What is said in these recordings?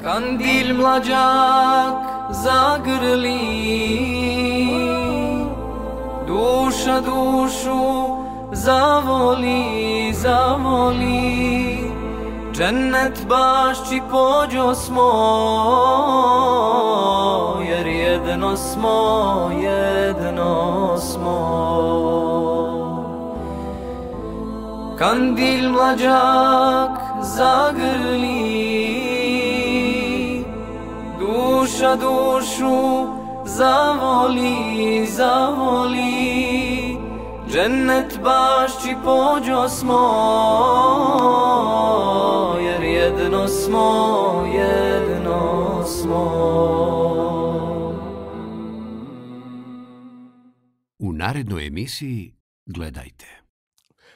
Kandil mlađak zagrli, duša dušu zavoli, zavoli, džennet bašći pođo smo, jer jedno smo, jedno smo. Kandil mlađak zagrli, duša dušu zavoli, zavoli, džennet bašći pođo smo, jer jedno smo, jedno smo. U narednoj emisiji gledajte.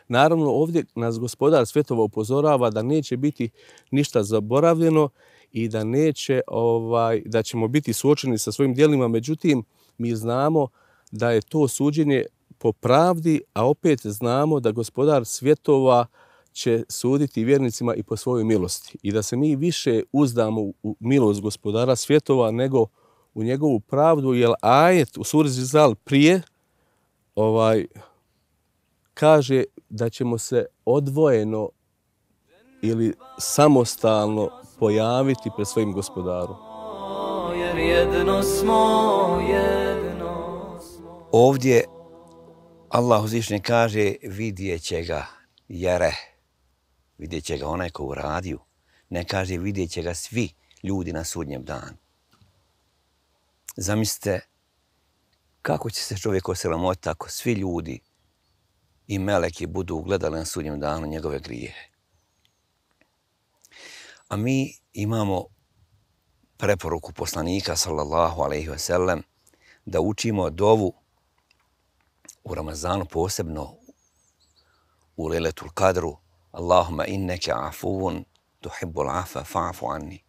Naravno, ovdje nas gospodar svjetova upozorava da neće biti ništa zaboravljeno i da da ćemo biti suočeni sa svojim djelima. Međutim, mi znamo da je to suđenje po pravdi, a opet znamo da gospodar svjetova će suditi vjernicima i po svojoj milosti. I da se mi više uzdamo u milost gospodara svjetova nego u njegovu pravdu, jer ajet u suri Zilzal prije kaže da ćemo se odvojeno ili samostalno pojaviti pred svojim gospodarom. Jer jedno smo, jedno smo. Ovdje Allah uzvišeni kaže vidjet će ga jere, vidjet će ga onaj ko uradio. Ne kaže vidjet će ga svi ljudi na sudnjem danu. Zamislite kako će se čovjek osramotiti ako svi ljudi i meleki budu ugledali na sudnjem danu njegove grijehe. A mi imamo preporuku poslanika sallallahu alejhi ve sellem da učimo dovu u Ramazanu, posebno u Lejletul Kadru. Allahumma inneke afuvun tuhibbul afa fa'fu anni.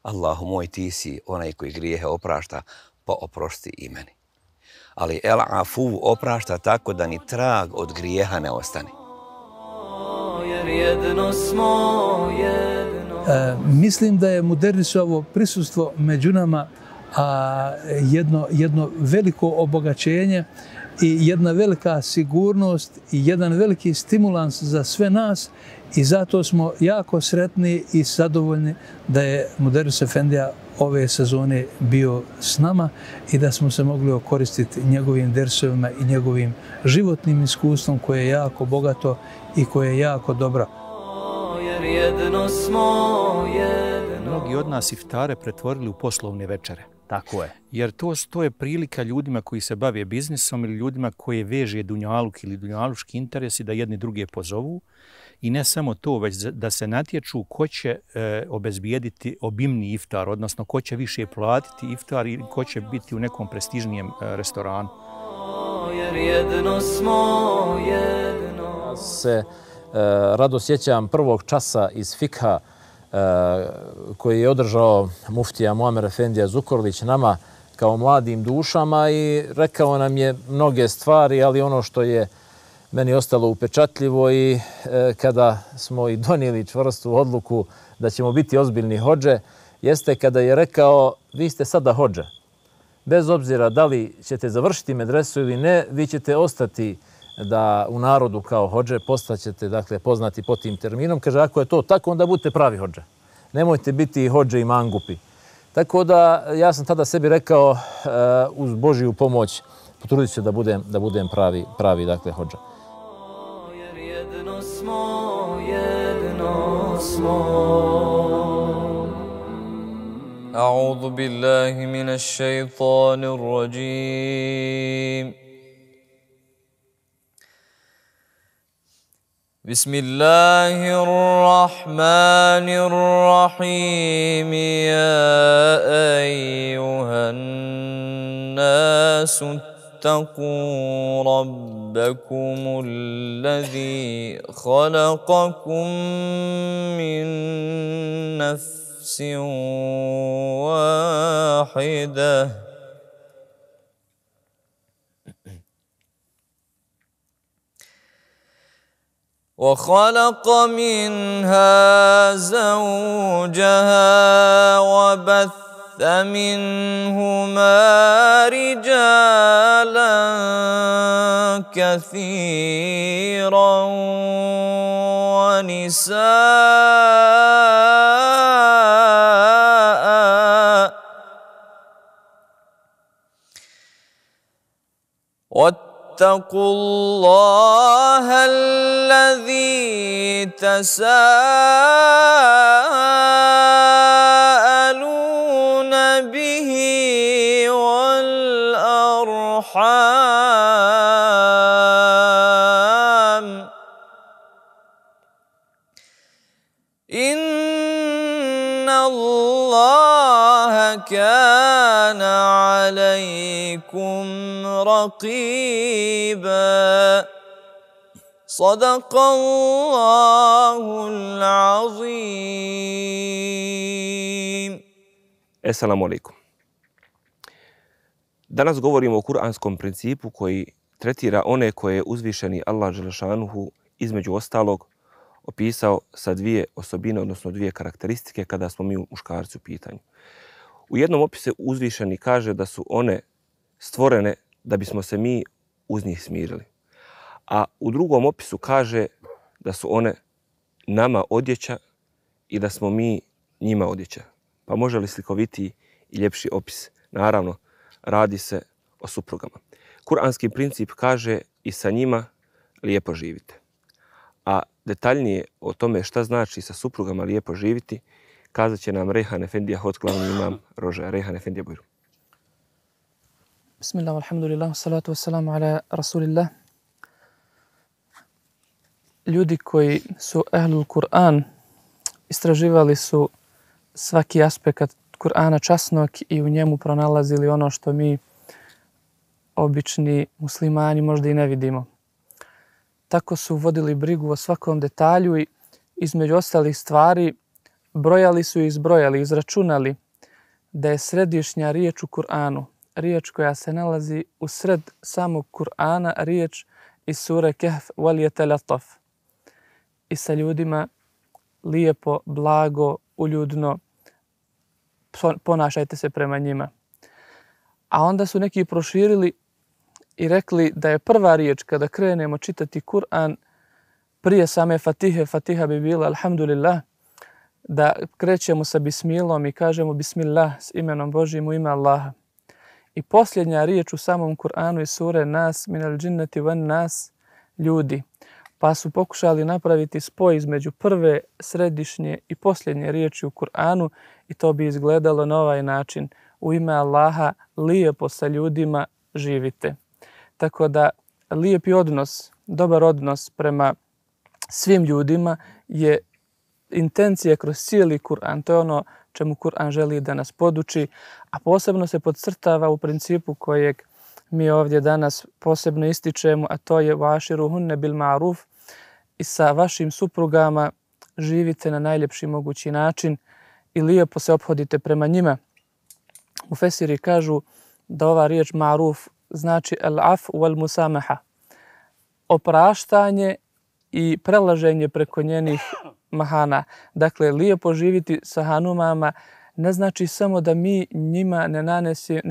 Allahu moj, ti si onaj koji grijehe oprašta, pa oprosti i meni. Ali el afu oprašta tako da ni trag od grijeha ne ostane. Jer jedno smo, jedno. Mislim da je Muderrisovo prisustvo među nama jedno veliko obogaćenje i jedna velika sigurnost i jedan veliki stimulans za sve nas i zato smo jako sretni i zadovoljni da je Muderris Efendija ove sezone bio s nama i da smo se mogli okoristiti njegovim dersovima i njegovim životnim iskustvom koje je jako bogato i koje je jako dobro. Jer jedno smo, jedno. Mnogi od nas iftare pretvorili u poslovne večere. Tako je. Jer to je prilika ljudima koji se bave biznisom ili ljudima koji veže dunjaluk ili dunjaluški interesi da jedni druge pozovu. I ne samo to, već da se natječu ko će obezbijediti obimni iftar, odnosno ko će više platiti iftar i ko će biti u nekom prestižnijem restoranu. Jer jedno smo, jedno. Se rado sjećam prvog časa iz fikha koji je održao muftija Muamer Efendija Zukorlić nama kao mladim dušama i rekao nam je mnoge stvari, ali ono što je meni ostalo upečatljivo i kada smo i donijeli čvrstu odluku da ćemo biti ozbiljni hodže, jeste kada je rekao vi ste sada hodže. Bez obzira da li ćete završiti medresu ili ne, vi ćete ostati da u narodu kao hodže, postaćete dakle, poznati po tim terminom. Kaže, ako je to tako, onda budete pravi hodže. Nemojte biti hodže i mangupi. Tako da ja sam tada sebi rekao uz Božiju pomoć potrudit ću se da budem pravi dakle, hodža. Jer jedno smo, jedno smo. A'udhu billahi minash shaitanir rajim. بسم الله الرحمن الرحيم يا أيها الناس اتقوا ربكم الذي خلقكم من نفس واحدة وخلق منها زوجها وبث منهما رجالا كثيرا ونساء واتقوا الله الذي تساءلون به والأرحام إن الله كان عليكم رقيبا صدق الله العظيم. Assalamu alaikum. Danas govorimo o kuranskom principu koji tretira one koje je uzvišeni Allah dželešanuhu između ostalog opisao sa dvije osobine, odnosno dvije karakteristike kada smo mi muškarci u pitanju. U jednom opisu uzvišeni kaže da su one stvorene da bismo se mi uz njih smirili. A u drugom opisu kaže da su one nama odjeća i da smo mi njima odjeća. Pa može li slikovitiji i ljepši opis? Naravno, radi se o suprugama. Kuranski princip kaže i sa njima lijepo živite. A detaljnije o tome šta znači sa suprugama lijepo živiti, kazat će nam Rejhan Efendija Hot, glavni imam Rožaja. Rejhan Efendija Bujru. Bismillah, alhamdulillah, salatu wassalamu ala rasulillah. Ljudi koji su ahlul Kur'an istraživali su svaki aspekt Kur'ana časnog i u njemu pronalazili ono što mi obični muslimani možda i ne vidimo. Tako su vodili brigu o svakom detalju i između ostalih stvari brojali su i izbrojali, izračunali da je središnja riječ u Kur'anu, riječ koja se nalazi u sred samog Kur'ana, riječ iz sure Kehf wal yatalataf. I sa ljudima lijepo, blago, uljudno ponašajte se prema njima. A onda su neki proširili i rekli da je prva riječ kada krenemo čitati Kur'an prije same Fatihe, Fatiha bi bila alhamdulillah, da krećemo sa bismilom i kažemo bismillah s imenom Božjim u ime Allaha. I posljednja riječ u samom Kur'anu je sure Nas minal džinnati wan nas, ljudi. Pa su pokušali napraviti spoj između prve, središnje i posljednje riječi u Kur'anu i to bi izgledalo na ovaj način. U ime Allaha lijepo sa ljudima živite. Tako da lijepi odnos, dobar odnos prema svim ljudima je intencija kroz cijeli Kur'an. To je ono čemu Kur'an želi da nas poduči, a posebno se podcrtava u principu kojeg mi ovdje danas posebno ističemo, a to je vaširuhunne bil ma'ruf, i sa vašim suprugama živite na najljepši mogući način i lijepo se ophodite prema njima. Mufesiri kažu da ova riječ ma'ruf znači al-af wal musamaha, opraštanje i prelaženje preko njenih mahana. Dakle, lijepo živiti sa hanumama ne znači samo da mi njima ne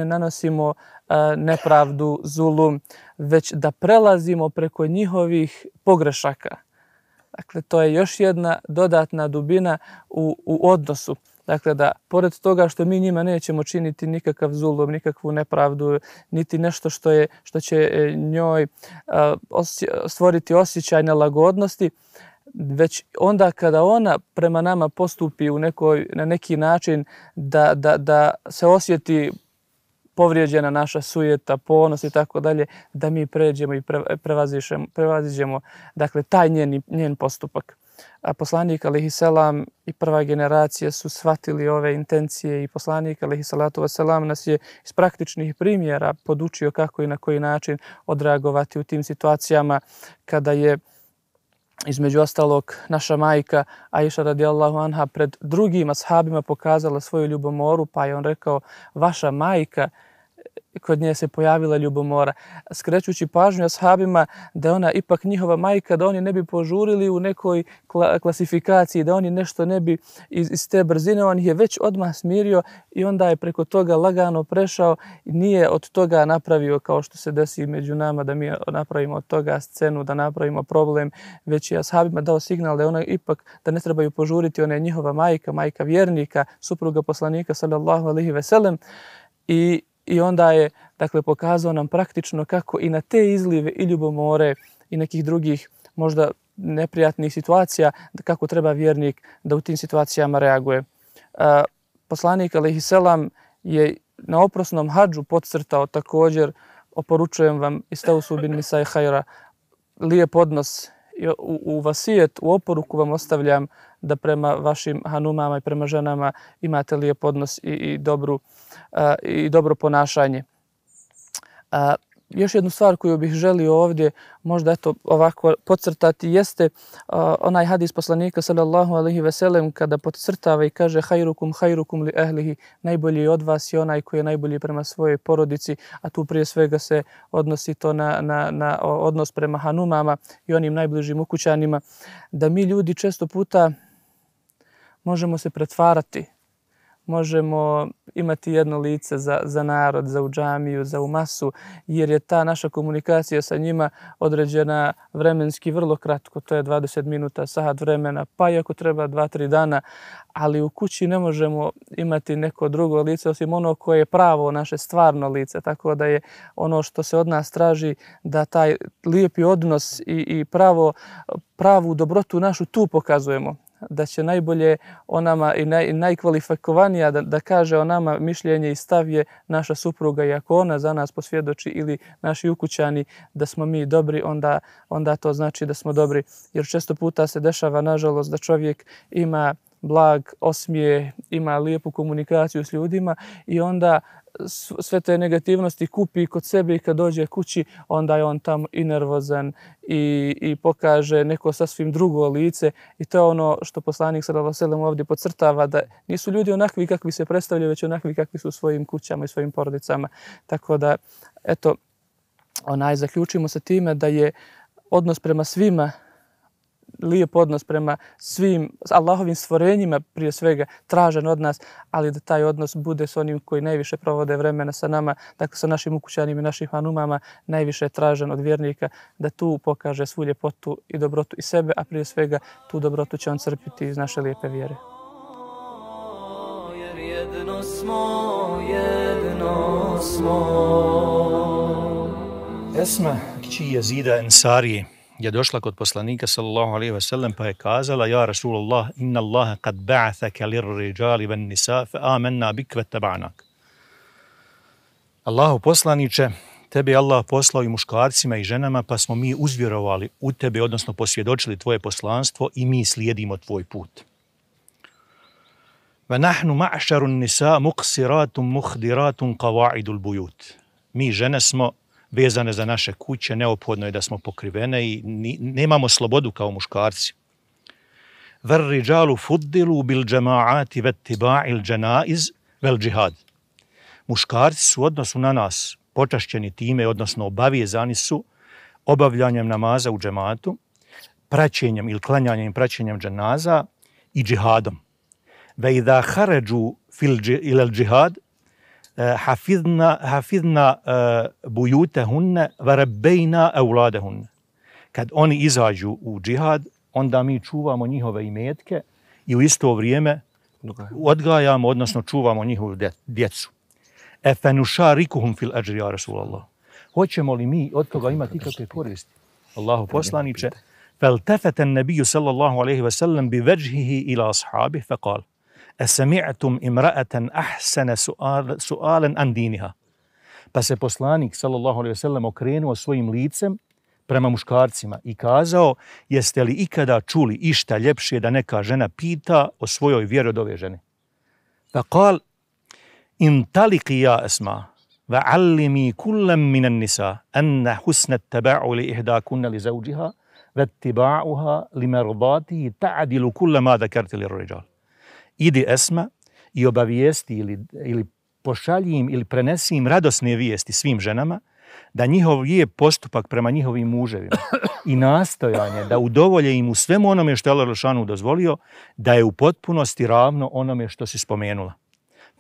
nanosimo nepravdu, zulum, već da prelazimo preko njihovih pogrešaka. Dakle, to je još jedna dodatna dubina u odnosu. Dakle, da pored toga što mi njima nećemo činiti nikakav zulum, nikakvu nepravdu, niti nešto što će njoj stvoriti osjećaj nelagodnosti, već onda kada ona prema nama postupi na neki način da se osjeti povrijeđena naša sujeta, ponos i tako dalje, da mi pređemo i prevaziđemo dakle, taj njen postupak. A poslanik alejhiselam i prva generacija su shvatili ove intencije i poslanik alejhiselatu vesselam nas je iz praktičnih primjera podučio kako i na koji način odreagovati u tim situacijama kada je između ostalog naša majka Aisha radijallahu anha pred drugim ashabima pokazala svoju ljubomoru, pa je on rekao: vaša majka kod nje se pojavila ljubomora, skrećući pažnju ashabima da je ona ipak njihova majka, da oni ne bi požurili u nekoj klasifikaciji, da oni nešto ne bi iz te brzine, on ih je već odmah smirio i onda je preko toga lagano prešao i nije od toga napravio kao što se desi među nama, da mi napravimo od toga scenu, da napravimo problem, već je ashabima dao signal da je ona ipak, da ne trebaju požuriti, ona je njihova majka, majka vjernika, supruga poslanika sallallahu alejhi ve sellem i onda je, dakle, pokazao nam praktično kako i na te izlive i ljubomore i nekih drugih možda neprijatnih situacija, kako treba vjernik da u tim situacijama reaguje. Poslanik alejhi selam je na oprosnom hadžu podcrtao također, oporučujem vam istausu bin nisai hajra, lijep odnos, u vasijet, u oporuku vam ostavljam da prema vašim hanumama i prema ženama imate lijep odnos i dobro ponašanje. Još jednu stvar koju bih želio ovdje možda eto ovako podcrtati jeste onaj hadis poslanika sallallahu alejhi ve sellem kada podcrtava i kaže hajrukum li ahlihi, najbolji od vas je onaj koji je najbolji prema svojoj porodici, a tu prije svega se odnosi to na odnos prema hanumama i onim najbližim ukućanima, da mi ljudi često puta možemo se pretvarati, možemo imati jedno lice za narod, za u džamiju, za u masu, jer je ta naša komunikacija sa njima određena vremenski vrlo kratko, to je 20 minuta, sat vremena, pa i ako treba 2-3 dana, ali u kući ne možemo imati neko drugo lice osim ono koje je pravo naše stvarno lice, tako da je ono što se od nas traži da taj lijepi odnos i pravu dobrotu našu tu pokazujemo, da će najbolje o nama i najkvalifikovanija da kaže o nama mišljenje i stav je naša supruga, i ako ona za nas posvjedoči ili naši ukućani da smo mi dobri, onda to znači da smo dobri. Jer često puta se dešava, nažalost, da čovjek ima blag osmijeh, ima lijepu komunikaciju s ljudima i onda sve te negativnosti kupi kod sebe i kad dođe kući, onda je on tamo i nervozan i pokaže neko sasvim drugo lice i to je ono što poslanik sallallahu alejhi ve sellem ovdje podcrtava, da nisu ljudi onakvi kakvi se predstavljaju, već onakvi kakvi su u svojim kućama i svojim porodicama. Tako da, eto, zaključimo sa time da je odnos prema svima, lijep odnos prema svim Allahovim stvorenjima prije svega tražen od nas, ali da taj odnos bude s onim koji najviše provode vremena sa nama, dakle sa našim ukućanima i našim hanumama, najviše je tražen od vjernika da tu pokaže svu ljepotu i dobrotu i sebe, a prije svega tu dobrotu će on crpiti iz naše lijepe vjere. Jer jedno smo. Esma, kći Jezida Ensarije, je došla kod poslanika sallallahu alejhi ve sellem pa je kazala: Ja Rasulullah, inna Allaha kad ba'athaka lirrijali wan nisa fa amanna bik wa taba'nak. Allahu poslanice, tebe je Allah poslao i muškarcima i ženama, pa smo mi uzvjerovali u tebe, odnosno posvjedočili tvoje poslanstvo i mi slijedimo tvoj put. Wa nahnu ma'sharu an-nisa muqsiratun mukhdiratun qawa'idul buyut. Mi žene smo vezane za naše kuće, neophodno je da smo pokrivene i nemamo slobodu kao muškarci. Var-rijalu fuddilu bil jama'ati wattiba'il janaiz wal jihad. Muškarci su u odnosu na nas počašćeni time, odnosno obavezani su obavljanjem namaza u džematu, praćenjem ili klanjanjem i praćenjem dženaza i džihadom. Ve idha kharaju ila al-jihad hafidna bujutahunne varabejna euladahunne. Kad oni izađu u džihad, onda mi čuvamo njihove imetke i u isto vrijeme odgajamo, odnosno čuvamo njihovu djecu. Efenušarikuhum fil ajri, ja Rasulallah. Hoćemo li mi od toga imati ikakve koristi? Allahu poslaniče, فالتفت النبي صلى الله عليه وسلم بوجهه إلى أصحابه فقال: أسمعتم امرأة أحسن سؤالا عن دينها. Pa se poslanik sallallahu alejhi ve sellem okrenuo svojim licem prema muškarcima i kazao: jeste li ikada čuli išta ljepše da neka žena pita o svojoj vjeri od ove žene? Faqal: intaliqi ya Asma wa'allimi kullam min an-nisa anna husna at-taba'u li ihdakunna li zawjiha wattiba'uha limardatihi ta'dilu kull ma dhakarta lir-rijal. Idi Esma i obavijesti ili pošalji im ili prenesi im radosne vijesti svim ženama, da njihov je postupak prema njihovim muževima i nastojanje da udovolje im u svemu onome što je Allah dželešanu dozvolio, da je u potpunosti ravno onome što si spomenula.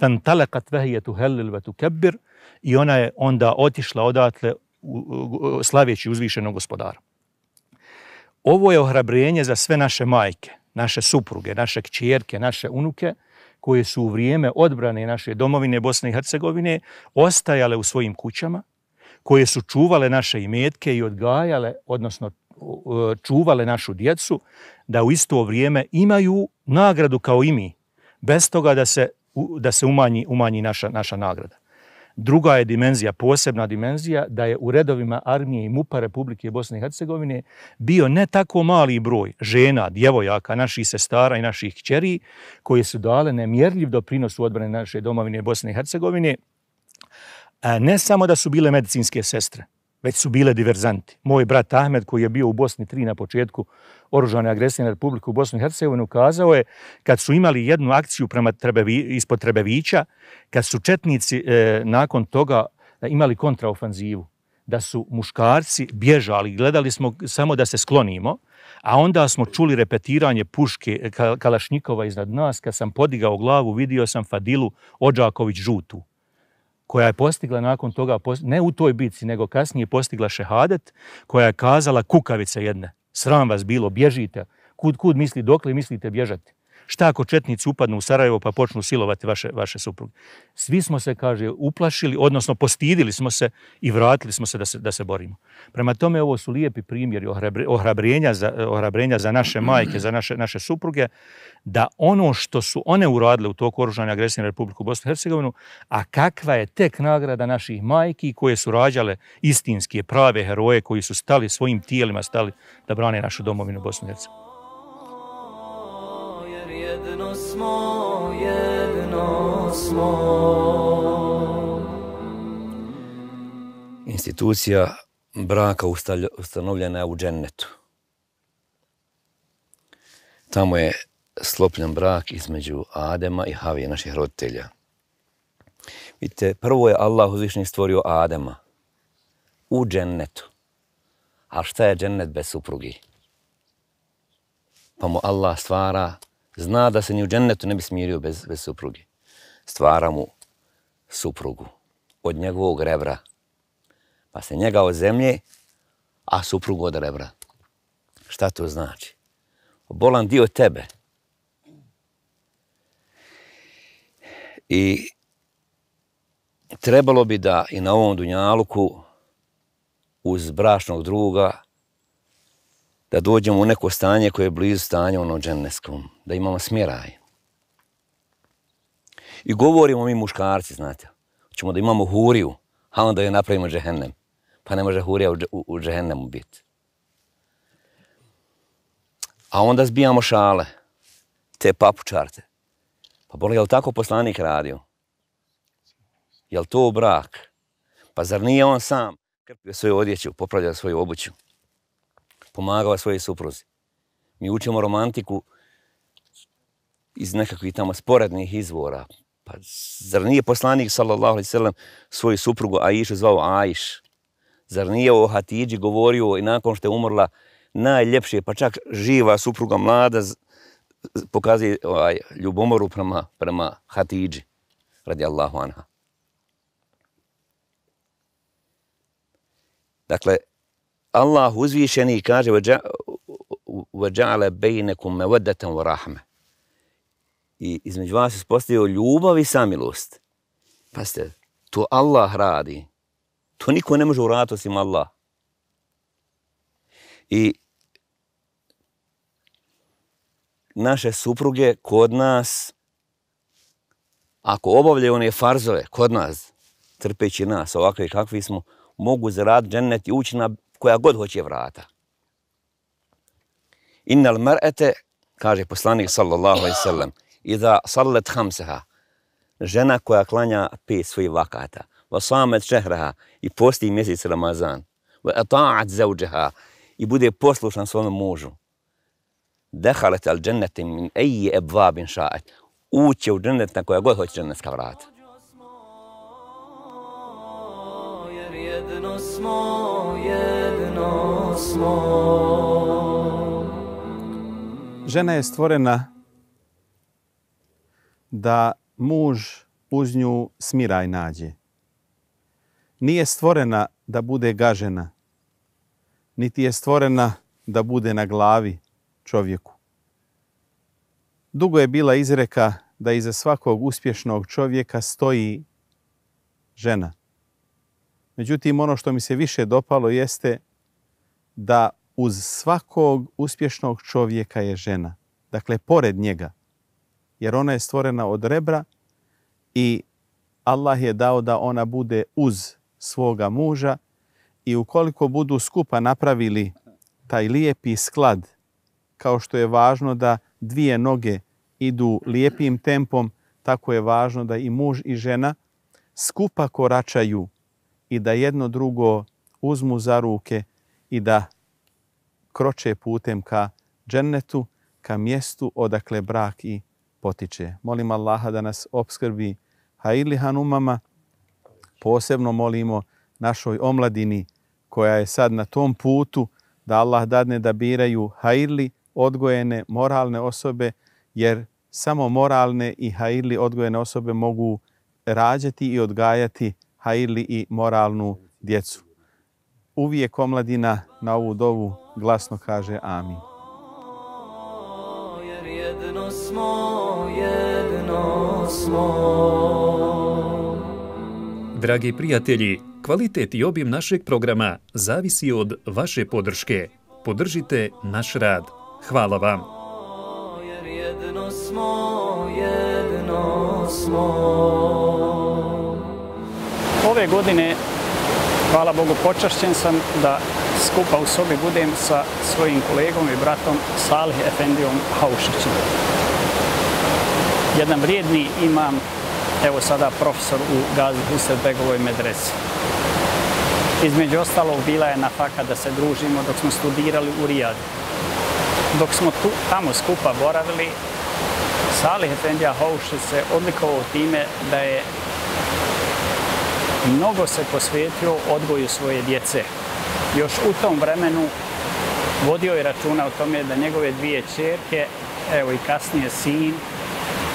Fantalakat vahije tuhellil ve tukebbir, i ona je onda otišla odatle slavjeći uzvišenog gospodara. Ovo je ohrabrenje za sve naše majke, naše supruge, naše kćerke, naše unuke, koje su u vrijeme odbrane naše domovine Bosne i Hercegovine ostajale u svojim kućama, koje su čuvale naše imetke i odgajale, odnosno čuvale našu djecu, da u isto vrijeme imaju nagradu kao i mi, bez toga da se umanji naša nagrada. Druga je dimenzija, posebna dimenzija, da je u redovima armije i MUP-a Republike Bosne i Hercegovine bio ne tako mali broj žena, djevojaka, naših sestara i naših kćeri, koje su dale nemjerljiv doprinos u odbrani naše domovine Bosne i Hercegovine. Ne samo da su bile medicinske sestre, već su bile diverzanti. Moj brat Ahmed, koji je bio u Bosni 3 na početku oružane agresije na Republiku Bosnu i Hercegovinu, kazao je kad su imali jednu akciju ispod Trebevića, kad su četnici nakon toga imali kontraofanzivu, da su muškarci bježali, gledali smo samo da se sklonimo, a onda smo čuli repetiranje puške Kalašnjikova iznad nas. Kad sam podigao glavu, vidio sam Fadilu Odžaković žutu, koja je postigla nakon toga, ne u toj bitci, nego kasnije postigla šehadet, koja je kazala kukavice jedne, sram vas bilo, bježite, kud misli, dokle mislite bježati? Šta ako četnici upadnu u Sarajevo pa počnu silovati vaše supruge? Svi smo se, kaže, uplašili, odnosno postidili smo se i vratili smo se da se borimo. Prema tome, ovo su lijepi primjeri ohrabrenja za naše majke, za naše supruge, da ono što su one uradile u toku oružane agresije na Republiku Bosnu i Hercegovinu, a kakva je tek nagrada naših majki koje su rađale istinske, prave heroje koji su stali svojim tijelima, stali da brane našu domovinu Bosnu i Hercegovinu. Jedno smo. Institucija braka ustanovljena je u džennetu. Tamo je sklopljen brak između Adema i Havije, naših roditelja. Vidite, prvo je Allah uzvišeni stvorio Adema u džennetu. A šta je džennet bez suprugi? Pa mu Allah stvara, zna da se ni u džennetu ne bi smirio bez suprugi. Stvara mu suprugu od njegovog rebra. Pa se njega od zemlje, a suprugu od rebra. Šta to znači? Bolan dio tebe. I trebalo bi da i na ovom dunjaluku uz bračnog druga da dođemo u neko stanje koje je blizu stanja ono džennetskom, da imamo smjeraj. I govorimo mi muškarci, znate, hoćemo da imamo huriju, a onda je napravimo džehennem. Pa ne može hurija u džehennemu biti. A onda zbijamo šale, te papučarte. Pa boli, je li tako poslanik radio? Je li to brak? Pa zar nije on sam krpio svoju odjeću, popravljao svoju obuću, pomagao svojoj supruzi? Mi učimo romantiku iz nekakvih tamo sporednih izvora. Pa zar nije poslanik, sallallahu alejhi ve sellem, svoju suprugu Aišu zvao Aiš? Zar nije o Hatidži govorio i nakon što je umrla najljepše, pa čak živa supruga mlada, pokazuje ljubomoru prema Hatidži, radijallahu anha. Dakle, Allah uzvišeni kaže وَجَعَلَ بَيْنَكُمْ مَوَدَّةً وَرَحْمَةً. I između vas je postavio ljubav i samilost. Pazite, to Allah radi. To niko ne može uraditi osim Allah. I naše supruge kod nas, ako obavljaju one farzove kod nas, trpeći nas ovakve kakvi smo, mogu zaraditi džennet i ući na koja god hoće vrata. Innal mar'ate, kaže poslanik sallallahu alejhi ve sellem, iza sallat khamsaha, žena koja klanja 5 svojih vakata, wa samet šehraha, i posti mjesec Ramazan, wa ata'at zawjaha, i bude poslušan svom mužu, dakhalat al jannata min ayyi abwabin sha'at, uće u džennet na koja god hoće džennetska vrata. jedno smo, jedno smo. Žena je stvorena da muž uz nju smiraj nađe. Nije stvorena da bude gažena, niti je stvorena da bude na glavi čovjeku. Dugo je bila izreka da iza svakog uspješnog čovjeka stoji žena. Međutim, ono što mi se više dopalo jeste da uz svakog uspješnog čovjeka je žena. Dakle, pored njega. Jer ona je stvorena od rebra i Allah je dao da ona bude uz svoga muža i ukoliko budu skupa napravili taj lijepi sklad, kao što je važno da dvije noge idu lijepim tempom, tako je važno da i muž i žena skupa koračaju i da jedno drugo uzmu za ruke i da kroče putem ka džennetu, ka mjestu odakle brak i potiče. Molim Allaha da nas opskrbi hajirli hanumama. Posebno molimo našoj omladini koja je sad na tom putu da Allah dadne da biraju hajirli, odgojene, moralne osobe, jer samo moralne i hajirli odgojene osobe mogu rađati i odgajati hajirli i moralnu djecu. Uvijek omladina na ovu dovu glasno kaže amin. Jer jedno smo, jedno smo. Dragi prijatelji, kvalitet i obim našeg programa zavisi od vaše podrške. Podržite naš rad. Hvala vam. Jer jedno smo, jedno smo. Ove godine, hvala Bogu, počašćen sam da skupa u sobi budem sa svojim kolegom i bratom Salih Efendijom Haušićem. Jedan vrijedni imam, evo sada profesor u Gazi Husretbegovoj medresi. Između ostalog bila je nafaka da se družimo dok smo studirali u Rijadu. Dok smo tamo skupa boravili, Salih Efendija Haušić se odlikovao time da je mnogo se posvetio odgoju svoje djece. Još u tom vremenu vodio je računa o tome da njegove dvije ćerke, evo i kasnije sin,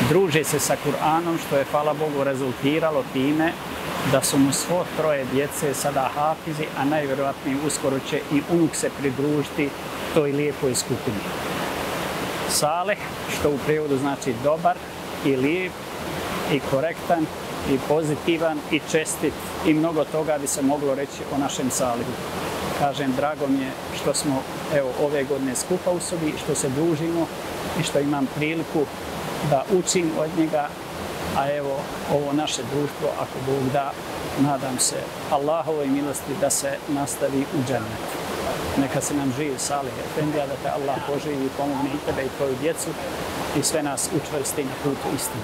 druže se sa Kur'anom, što je, hvala Bogu, rezultiralo time da su mu svo troje djece sada hafizi, a najvjerojatnije uskoro će i unuk se pridružiti toj lijepoj skupini. Saleh, što u prijevodu znači dobar i lijep i korektan i pozitivan i čestit i mnogo toga bi se moglo reći o našem Salihu. Kažem, drago mi je što smo evo ove godine skupa u sobi, što se družimo i što imam priliku da učim od njega, a evo ovo naše društvo, ako Bog da, nadam se Allahovoj milosti da se nastavi u džennetu. Neka se nam živi Salih Efendija, da te Allah poživi i pomogne i tebe i tvoju djecu i sve nas učvrsti na putu istine.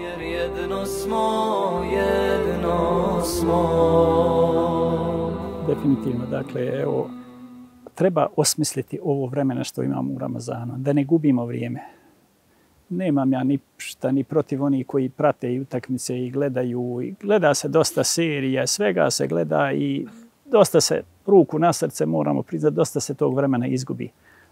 Jer jedno smo, jedno smo. Definitivno, dakle, evo, treba osmisliti ovo vremena što imamo u Ramazanu, da ne gubimo vrijeme. Nemam ja ništa ni protiv onih koji prate i utakmice i gledaju. I gleda se dosta serija, svega se gleda i dosta se, ruku na srce moramo priznati, dosta se tog vremena izgubi.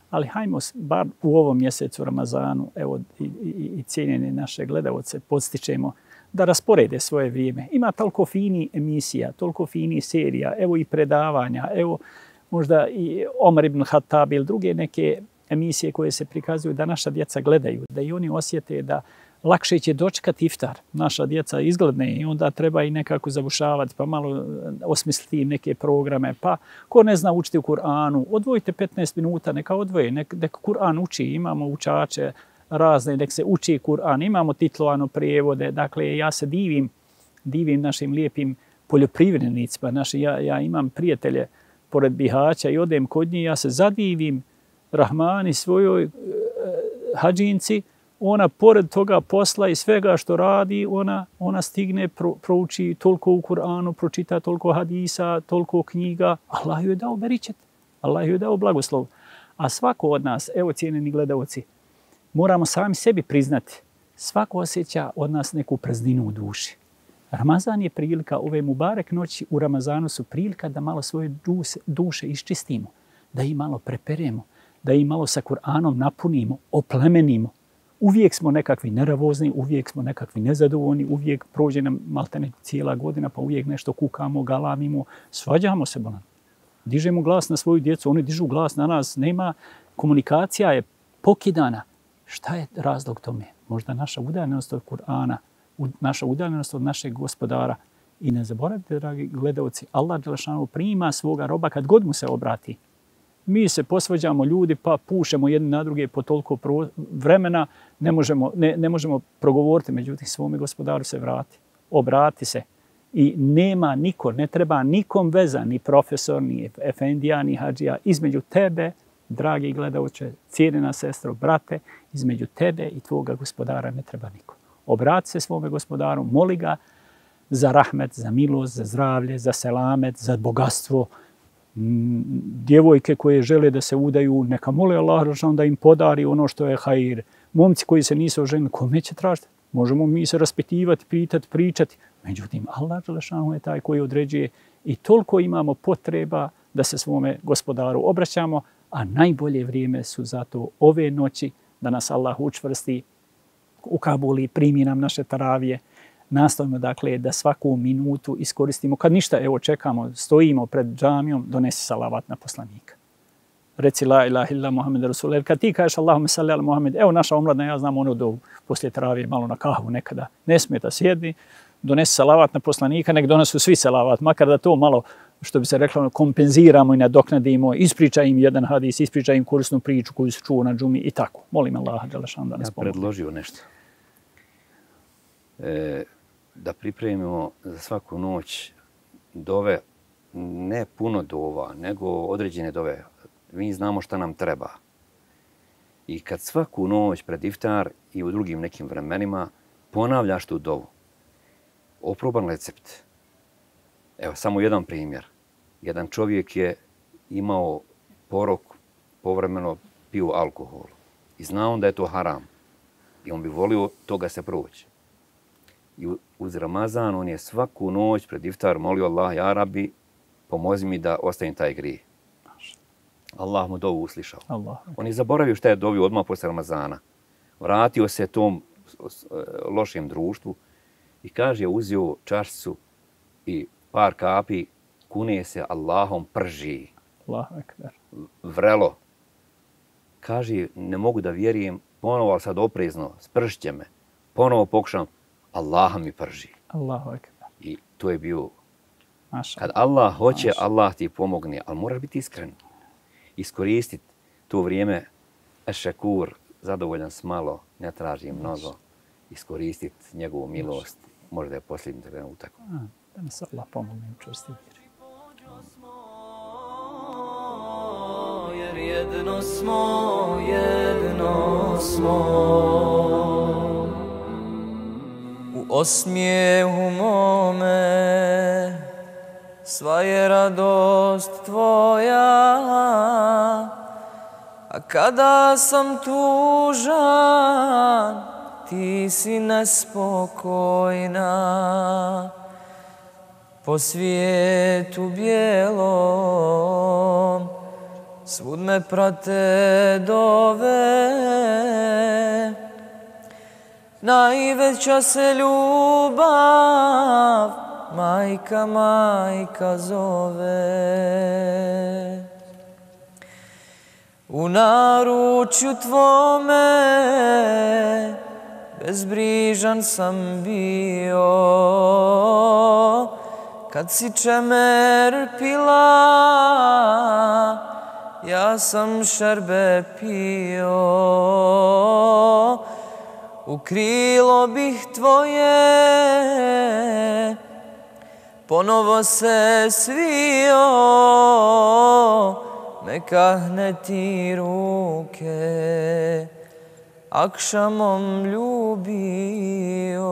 Ali hajmo bar u ovom mjesecu Ramazanu, evo i cijenjene naše gledalce, podstičemo da rasporede svoje vrijeme. Ima toliko fini emisija, toliko fini serija, evo i predavanja, evo možda i Omar ibn Khattab ili druge neke emisije koje se prikazuju da naša djeca gledaju, da i oni osjete da lakše će dočekati iftar. Naša djeca izgledne i onda treba i nekako zabušavati, pa malo osmisliti im neke programe. Pa ko ne zna učiti u Kur'anu, odvojite 15 minuta, neka odvoje, neka Kur'an uči. Imamo učače razne, nek se uči Kur'an, imamo titlovano prijevode. Dakle, ja se divim našim lijepim poljoprivrednicima. Ja imam prijatelje pored Bihaća i odem kod njih, ja se zadivim Rahmani svojoj hađinci, ona pored toga posla i svega što radi, ona stigne, prouči toliko u Kur'anu, pročita toliko hadisa, toliko knjiga. Allah joj je dao beričet, Allah joj je dao blagoslov. A svako od nas, evo cijenjeni gledalci, moramo sami sebi priznati, svako osjeća od nas neku prazninu u duši. Ramazan je prilika, ove Mubarek noći u Ramazanu su prilika da malo svoje duše iščistimo, da ih malo preperemo, da ih malo sa Kur'anom napunimo, oplemenimo. Uvijek smo nekakvi neravozni, uvijek smo nekakvi nezadovoljni, uvijek prođe nam maltene cijela godina, pa uvijek nešto kukamo, galamimo, svađamo se bolan. Dižemo glas na svoju djecu, oni dižu glas na nas, nema, komunikacija je pokidana. Šta je razlog tome? Možda naša udaljenost od Kur'ana, naša udaljenost od našeg gospodara. I ne zaboravite, dragi gledalci, Allah dželešanu prima svoga roba kad god mu se obrati. Mi se posvađamo ljudi pa pušemo jedni na druge po toliko vremena, ne možemo progovoriti, međutim svome gospodaru se vrati. Obrati se. I nema niko, ne treba nikom veza, ni profesor, ni efendija, ni hadžija, između tebe, dragi gledalče, cijenjena sestro, brate, između tebe i tvoga gospodara ne treba niko. Obrati se svome gospodaru, moli ga za rahmet, za milost, za zdravlje, za selamet, za bogatstvo. Djevojke koje žele da se udaju, neka mole Allah da im podari ono što je hajir. Momci koji se nisu oženili, kome će tražiti? Možemo mi se raspitivati, pitati, pričati. Međutim, Allah je taj koji određuje i toliko imamo potreba da se svome gospodaru obraćamo, a najbolje vrijeme su zato ove noći da nas Allah učvrsti u Kabuli, primi nam naše taravije. Nastavimo dakle da svaku minutu iskoristimo. Kad ništa, evo čekamo, stojimo pred džamijom, donesi salavat na poslanika. Reci la ilaha illa Muhammed Rasul. Jer kad ti kažeš Allahumme salli ala Muhammed, evo naša omladna, ja znam ono do poslije taravije malo na kahvu nekada. Ne smeta, sjedni, donesi salavat na poslanika, nek donesu svi salavat, makar da to malo, što bi se reklo, kompenziramo i nadoknadimo, ispričaj im jedan hadis, ispričaj im korisnu priču koju se čuo na džumi i tako. Molim Allaha dželešanu da nas pomogne. Ja predložio nešto. Da pripremimo za svaku noć dove, ne puno dova, nego određene dove. Mi znamo šta nam treba. I kad svaku noć pred iftar i u drugim nekim vremenima ponavljaš tu dovu, oproban recept. Evo, samo jedan primjer. Jedan čovjek je imao porok, povremeno pio alkohol. I znao da je to haram. I on bi volio toga se proći. I uz Ramazan on je svaku noć pred iftar molio Allah, ja Rabbi, pomozi mi da ostavim taj grijeh. Allah mu dovu uslišao. On je zaboravio šta je dovio odmah posle Ramazana. Vratio se tom lošem društvu i kaže, uzio čašicu i par kapi, kune se Allahom, prži. Vrelo. Kaže, ne mogu da vjerujem, ponovo, ali sad oprezno, spršće me. Ponovo pokušam, Allaha mi prži. I to je bio, kad Allah hoće, Allah ti pomogne, ali moraš biti iskren. Iskoristiti to vrijeme, ešekur, zadovoljan s malo, ne traži mnogo, iskoristiti njegovu milost, možda je posljednji trenutak. Da nas Allah pomogne u čvrsti vjeri. Jer jedno smo, u osmijehu mome, sva je radost tvoja, a kada sam tužan, ti si nespokojna. Po svijetu bijelom, svud me prate dove, najveća se ljubav, majka zove. U naručju tvome bezbrižan sam bio, kad si čemer pila, ja sam šerbe pio. U krilo bih tvoje ponovo se svio, mekahne ti ruke, akšamom ljubio.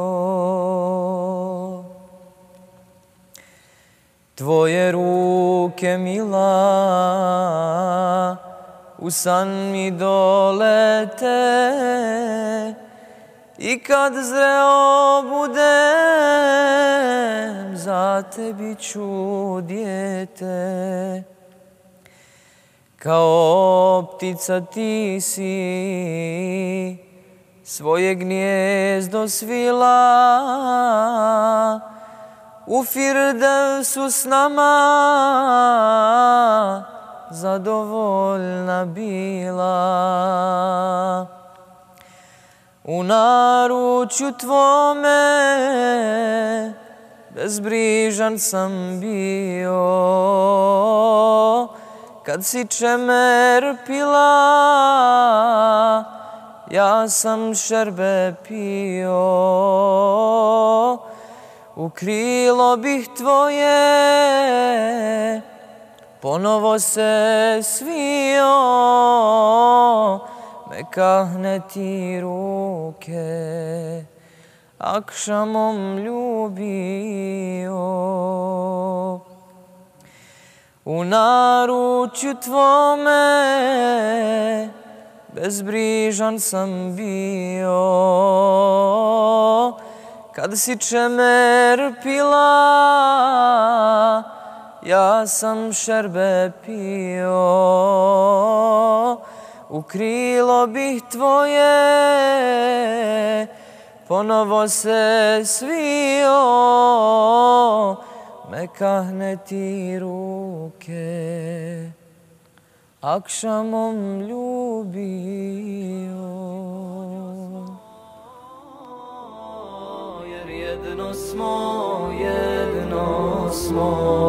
Tvoje ruke mila u san mi dolete, I kad zreo budem, za tebi ću dijete. Kao ptica ti si svoje gnijezdo svila, u Firdevsu s nama zadovoljna bila. U naručju tvome bezbrižan sam bio, kad si čemer pila, ja sam šerbe pio. U krilo bih tvoje ponovo se svio, me kahne ti ruke, akšamom ljubio. U naručju tvome bezbrižan sam bio, kad si čemer pila, ja sam šerbe pio. U krilo bih tvoje ponovo se svio, me kahne ti ruke, akšamom ljubio. Jer jedno smo, jedno smo.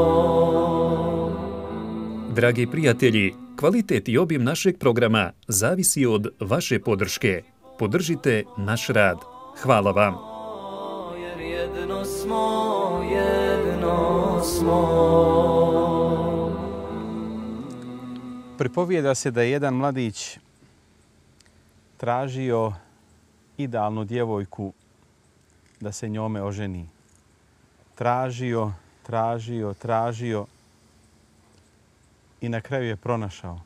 Dragi prijatelji, kvalitet i obim našeg programa zavisi od vaše podrške. Podržite naš rad. Hvala vam. Jer jedno smo, jedno smo. Pripovijeda se da je jedan mladić tražio idealnu djevojku da se njome oženi. Tražio i na kraju je pronašao.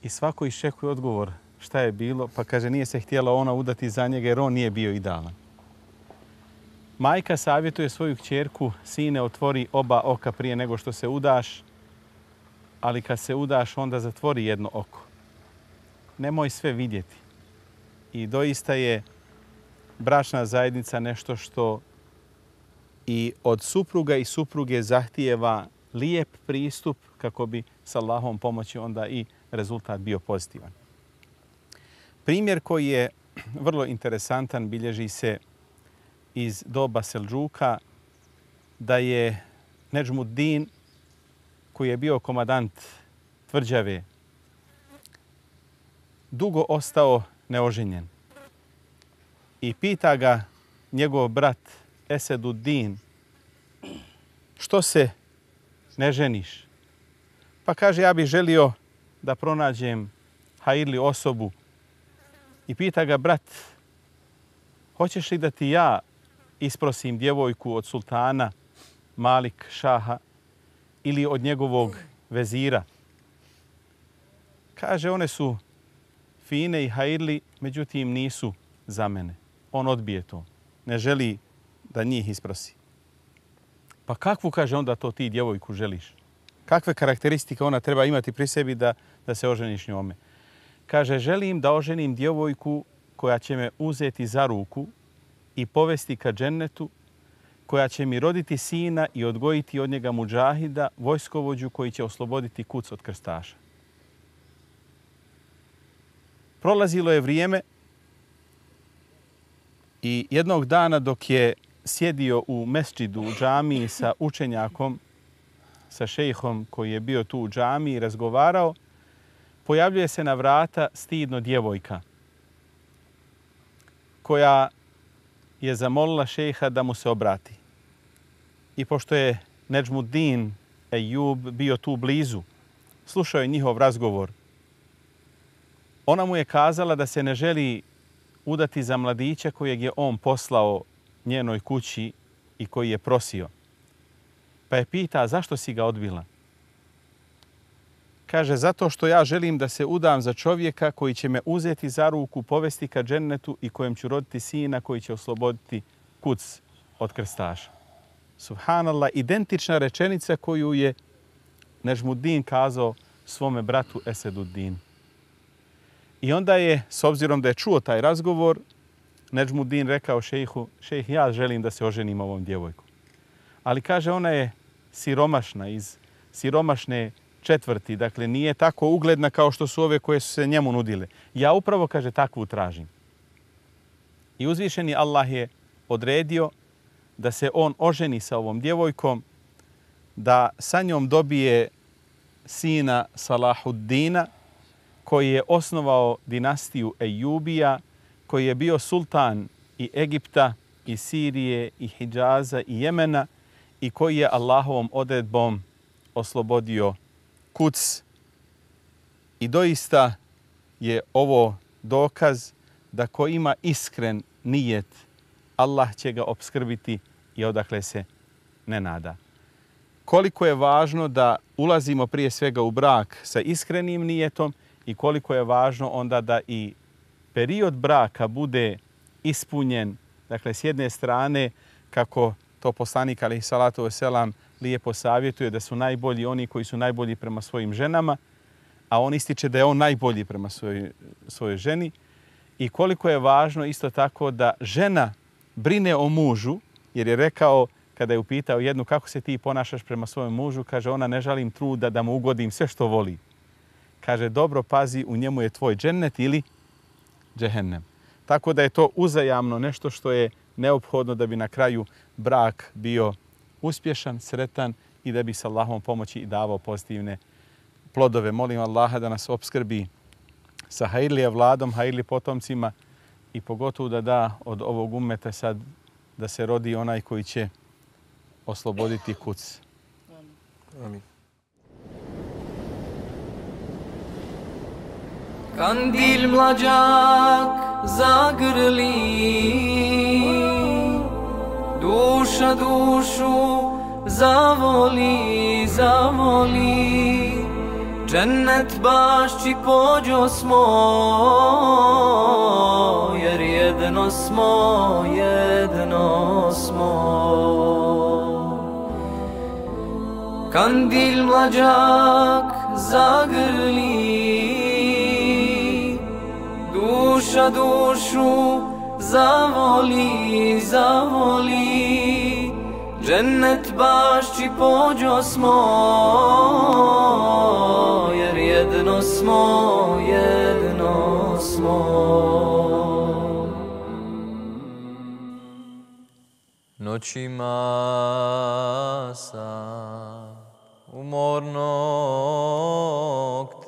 I svako iščekuje odgovor šta je bilo, pa kaže nije se htjela ona udati za njega jer on nije bio idealan. Majka savjetuje svoju kćerku, sine, otvori oba oka prije nego što se udaš, ali kad se udaš onda zatvori jedno oko. Nemoj sve vidjeti. I doista je bračna zajednica nešto što i od supruga i supruge zahtijeva lijep pristup kako bi s Allahom pomoći onda i rezultat bio pozitivan. Primjer koji je vrlo interesantan bilježi se iz doba Seldžuka, da je Nedžmuddin, koji je bio komadant tvrđave, dugo ostao neoženjen. I pita ga njegov brat Eseduddin, što se ne ženiš? Pa kaže, ja bih želio da pronađem hajirli osobu. I pita ga brat, hoćeš li da ti ja isprosim djevojku od sultana Malik Šaha ili od njegovog vezira? Kaže, one su fine i hajirli, međutim nisu za mene. On odbije to. Ne želi da njih isprosi. Pa kakvu, kaže, onda to ti djevojku želiš? Kakve karakteristike ona treba imati pri sebi da se oženiš njome? Kaže, želim da oženim djevojku koja će me uzeti za ruku i povesti ka džennetu, koja će mi roditi sina i odgojiti od njega mudžahida, vojskovođu koji će osloboditi kuc od krstaša. Prolazilo je vrijeme i jednog dana dok je sjedio u mesdžidu, u džamiji sa učenjakom, sa šejhom koji je bio tu u džamiji i razgovarao, pojavljuje se na vrata stidno djevojka koja je zamolila šejha da mu se obrati. I pošto je Nedžmuddin Ejub bio tu blizu, slušao je njihov razgovor, ona mu je kazala da se ne želi udati za mladića kojeg je on poslao njenoj kući i koji je prosio. Pa je pita, zašto si ga odbila? Kaže, zato što ja želim da se udam za čovjeka koji će me uzeti za ruku, povesti ka džennetu i kojem ću roditi sina koji će osloboditi kuc od krstaša. Subhanallah, identična rečenica koju je Nežmuddin kazao svome bratu Eseduddin. I onda je, s obzirom da je čuo taj razgovor, Nežmuddin rekao šejhu, šejh, ja želim da se oženim ovom djevojkom. Ali kaže, ona je siromašna, iz siromašne četvrti, dakle nije tako ugledna kao što su ove koje su se njemu nudile. Ja upravo, kaže, takvu tražim. I uzvišeni Allah je odredio da se on oženi sa ovom djevojkom, da sa njom dobije sina Salahuddina, koji je osnovao dinastiju Ejubija, koji je bio sultan i Egipta, i Sirije, i Hidžaza, i Jemena, i koji je Allahovom odredbom oslobodio Kuc. I doista je ovo dokaz da ko ima iskren nijet, Allah će ga opskrbiti i odakle se ne nada. Koliko je važno da ulazimo prije svega u brak sa iskrenim nijetom i koliko je važno onda da i period braka bude ispunjen. Dakle, s jedne strane, kako to poslanik alejhi salatu vesselam lijepo savjetuje, da su najbolji oni koji su najbolji prema svojim ženama, a on ističe da je on najbolji prema svojoj ženi. I koliko je važno isto tako da žena brine o mužu, jer je rekao, kada je upitao jednu kako se ti ponašaš prema svojem mužu, kaže, ona ne žalim truda da mu ugodim sve što voli. Kaže, dobro pazi, u njemu je tvoj džennet ili džehennem. Tako da je to uzajamno nešto što je neophodno da bi na kraju brak bio uspješan, sretan i da bi s Allahom pomoći i davao pozitivne plodove. Molim Allaha da nas opskrbi sa hajrlije vladom, hajrli potomcima i pogotovo da da od ovog ummeta sad da se rodi onaj koji će osloboditi kuc. Amin. Kandil mlađak zagrli, duša dušu zavoli, zavoli, džennet bašći pođo smo, jer jedno smo, jedno smo. Kandil mlađak zagrli, duša dušu zavoli, zavoli, džennet bašći pođo smo, jer jedno smo, jedno smo. Noćima sam umornog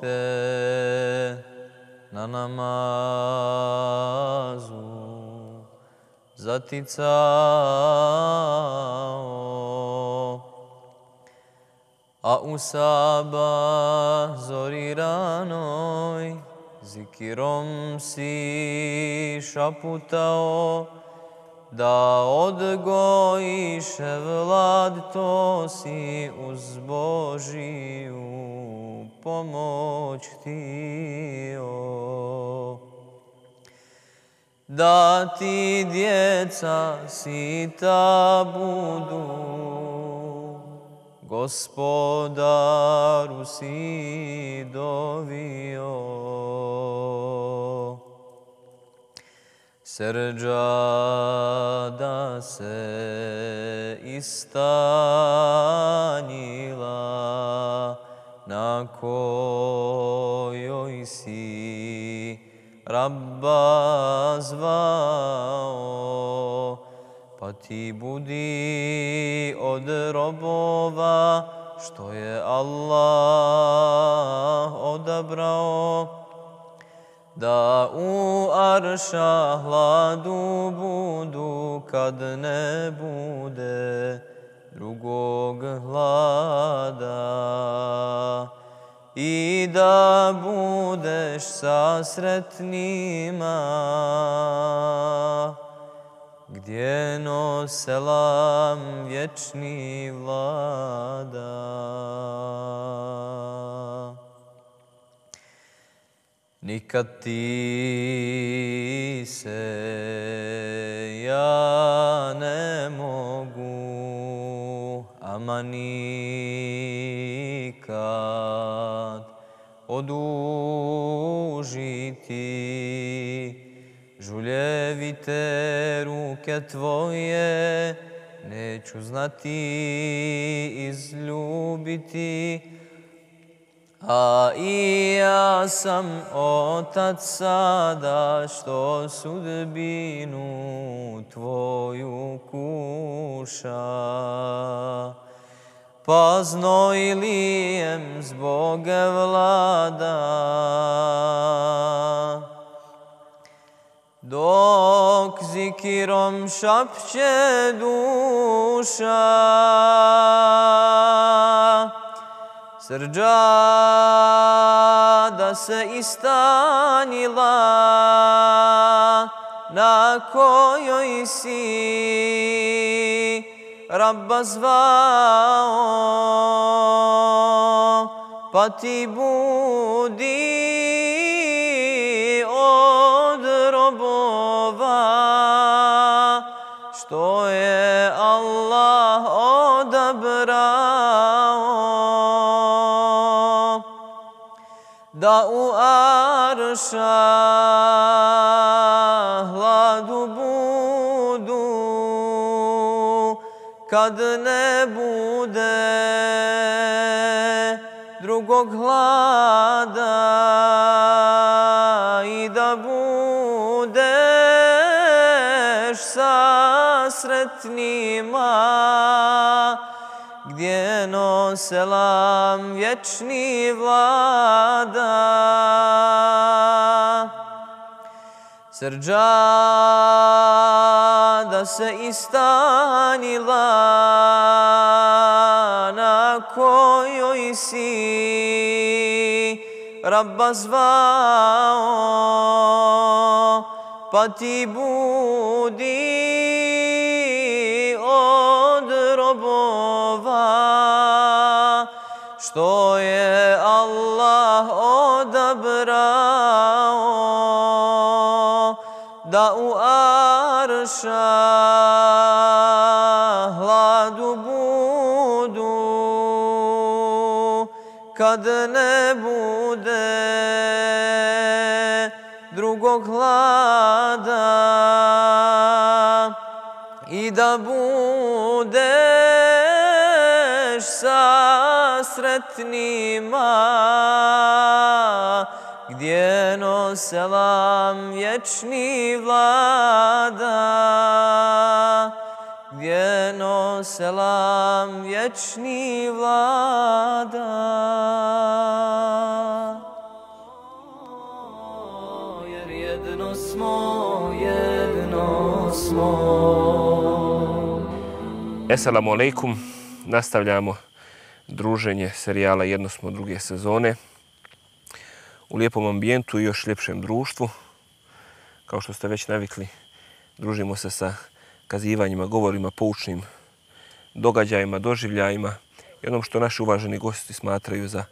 te na namazu zaticao, a u sabah zori ranoj zikirom si šaputao, da odgojiše vlad, to si uz Božiju pomoć htio. Da ti djeca sita budu, Gospodaru si dovio. Srđada se istanjila, na kojoj si Rabba zvao, pa ti budi od robova što je Allah odabrao, da u arša hladu budu kad ne bude drugog hlada, i da budeš sa sretnima gdje no selam vječni vlada. nikad ti se ja ne mogu, ama nikad odužiti. Žuljevite ruke tvoje neću znati izljubiti, a i ja sam otac sada što sudbinu tvoju kuša. Pa znojlijem zbog vlada, dok zikirom šapće duša. Srđada se istanjila, na kojoj si Rabba zvao, pa ti budi od robova, što je Allah odabrao, da u arša hladu budu, kad ne bude drugog hlada, i da budeš sa sretnima, gdje no selam vječni vlada. Srđada se istanjila, na kojoj si Rabba zvao, pa ti budi od robova, što je Allah odabrao, da u arša hladu budu, kad ne bude drugog hlada, i da budeš sa sretnima, gdje no selam vječni vlada, gdje no selam vječni vlada. Jer jedno smo. Assalamu alaikum. Nastavljamo druženje serijala Jedno smo druge sezone u lijepom ambijentu i još ljepšem društvu. Kao što ste već navikli, družimo se sa kazivanjima, govorima, poučnim događajima, doživljajima i onom što naši uvaženi gosti smatraju za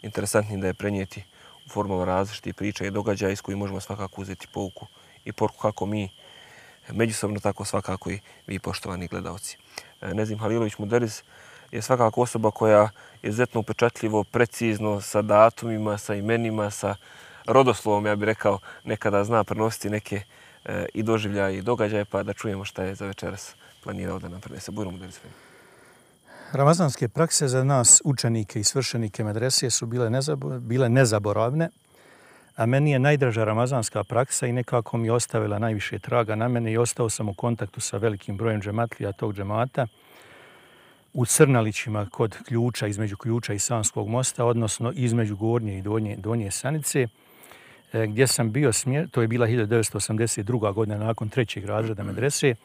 interesantnim da je prenijeti u formama različitih priča i događaja iz kojih možemo svakako uzeti pouku i poruku kako mi međusobno, tako svakako i vi, poštovani gledalci. Nezim Halilović Muderiz je svakako osoba koja je izuzetno upečatljivo, precizno, sa datumima, sa imenima, sa rodoslovom, ja bih rekao, nekada zna prenositi neke i doživljaje i događaje, pa da čujemo šta je za večeras planirao da nam prenese. Bujro Muderiz. Ramazanske prakse za nas, učenike i svršenike medrese, su bile nezaboravne, a meni je najdraža ramazanska praksa i nekako mi je ostavila najviše traga na mene i ostao sam u kontaktu sa velikim brojem džematlija tog džemata u Crnalićima kod Ključa, između Ključa i Sanskog mosta, odnosno između Gornje i Donje Sanice, gdje sam bio to je bila 1982. godina nakon 3. razreda medrese,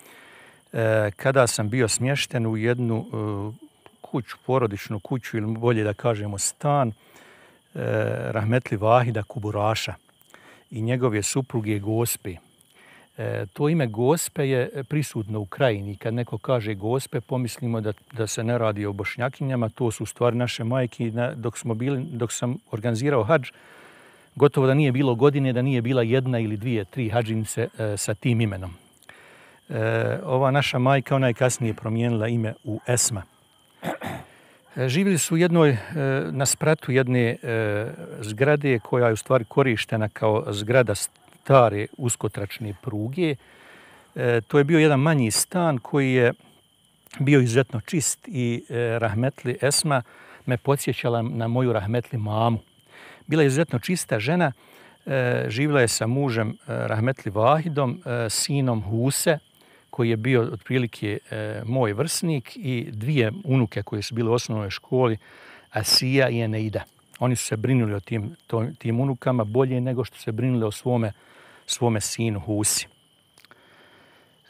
kada sam bio smješten u jednu kuću, porodičnu kuću ili bolje da kažemo stan, rahmetli Vahida Kuburaša i njegove supruge Gospe. To ime Gospe je prisutno u krajini. Kad neko kaže Gospe, pomislimo da se ne radi o Bošnjakinjama, to su u stvari naše majke. Dok sam organizirao hadž, Gotovo da nije bilo godine, da nije bila jedna ili dvije, tri hadžinice sa tim imenom. Ova naša majka, ona je kasnije promijenila ime u Esma. Živjeli su na spratu jedne zgrade koja je u stvari korištena kao zgrada stare uskotračne pruge. To je bio jedan manji stan koji je bio izuzetno čist i rahmetli Esma me podsjećala na moju rahmetli mamu. Bila je izuzetno čista žena, živjela je sa mužem rahmetli Vahidom, sinom Huse, koji je bio otprilike moj vrsnik, i dvije unuke koje su bile u osnovnoj školi, Asija i Eneida. Oni su se brinuli o tim unukama bolje nego što se brinuli o svome sinu Husi.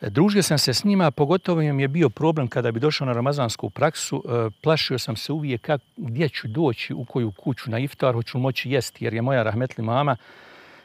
Družio sam se s njima, pogotovo im je bio problem kada bi došao na ramazansku praksu. Plašio sam se uvijek gdje ću doći, u koju kuću na iftar, hoću moći jesti, jer je moja rahmetli mama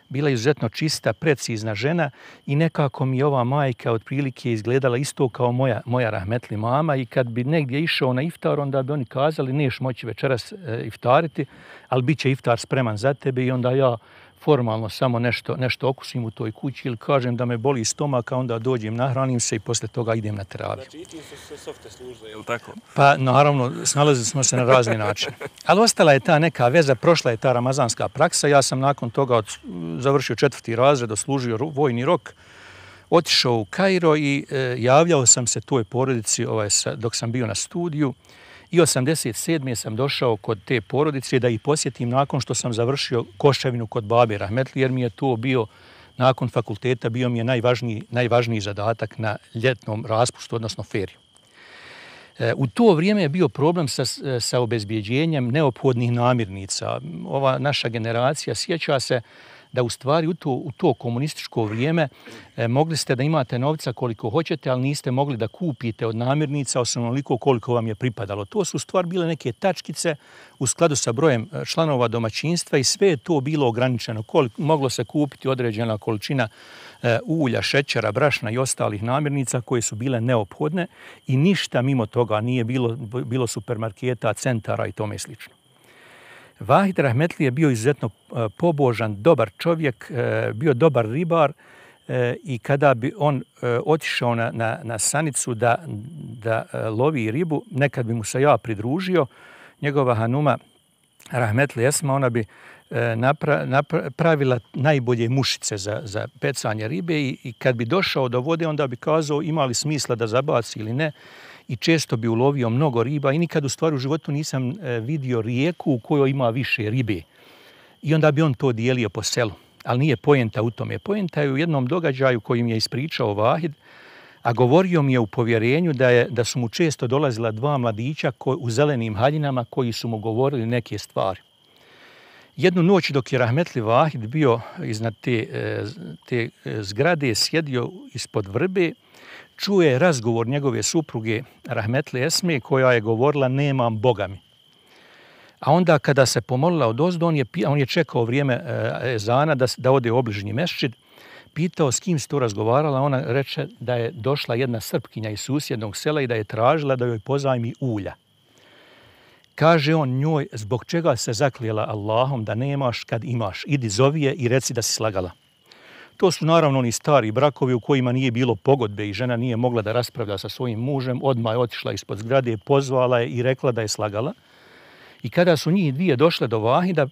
bila izuzetno čista, precizna žena i nekako mi ova majka otprilike izgledala isto kao moja rahmetli mama, i kad bi negdje išao na iftar, onda bi oni kazali neš moći večeras iftariti, ali bit će iftar spreman za tebe, i onda ja formalno samo nešto okusim u toj kući ili kažem da me boli stomak, a onda dođem, nahranim se i posle toga idem na teraviju. Znači i ti su sve softe služile, je li tako? Pa naravno, snalazili smo se na razne načine. Ali ostala je ta neka veza, prošla je ta ramazanska praksa. Ja sam nakon toga završio 4. razred, odslužio vojni rok, otišao u Kairo i javljao sam se toj porodici dok sam bio na studiju. I 87. sam došao kod te porodice da ih posjetim nakon što sam završio koševinu kod babe rahmetli, jer mi je to bio, nakon fakulteta, bio mi je najvažniji zadatak na ljetnom raspustu, odnosno feriju. U to vrijeme je bio problem sa obezbjeđenjem neophodnih namirnica. Ova naša generacija sjeća se da u stvari u to komunističko vrijeme mogli ste da imate novca koliko hoćete, ali niste mogli da kupite od namirnica onoliko koliko vam je pripadalo. To su u stvari bile neke tačkice u skladu sa brojem članova domaćinstva i sve je to bilo ograničeno. Moglo se kupiti određena količina ulja, šećera, brašna i ostalih namirnica koje su bile neophodne i ništa mimo toga nije bilo supermarketa, centara i tome slično. Vahid rahmetli je bio izuzetno pobožan, dobar čovjek, bio dobar ribar i kada bi on otišao na sanicu da lovi ribu, nekad bi mu se ja pridružio, njegova hanuma rahmetli Esma, ona bi pravila najbolje mušice za pecanje ribe i kad bi došao do vode, onda bi kazao ima li smisla da zabaci ili ne. I često bi ulovio mnogo riba i nikad u stvari u životu nisam vidio rijeku u kojoj ima više ribe. I onda bi on to dijelio po selu. Ali nije poenta u tome. Poenta je u jednom događaju kojim je ispričao Vahid, a govorio mi je u povjerenju da su mu često dolazila dva mladića u zelenim haljinama koji su mu govorili neke stvari. Jednu noć dok je rahmetli Vahid bio iznad te zgrade, sjedio ispod vrbe, čuje razgovor njegove supruge rahmetli Esme koja je govorila nemam Boga mi. A onda kada se pomolila odozdo, on je čekao vrijeme ezana da ode u obližnji mešćid, pitao s kim se to razgovarala, ona reče da je došla jedna Srpkinja iz susjednog sela i da je tražila da joj pozajmi ulja. Kaže on njoj, zbog čega se zaklijela Allahom da nemaš kad imaš, idi zovi je i reci da si slagala. To su naravno oni stari brakovi u kojima nije bilo pogodbe i žena nije mogla da raspravlja sa svojim mužem, odmah je otišla ispod zgrade, pozvala je i rekla da je slagala. I kada su njih dvije došle do Vahida,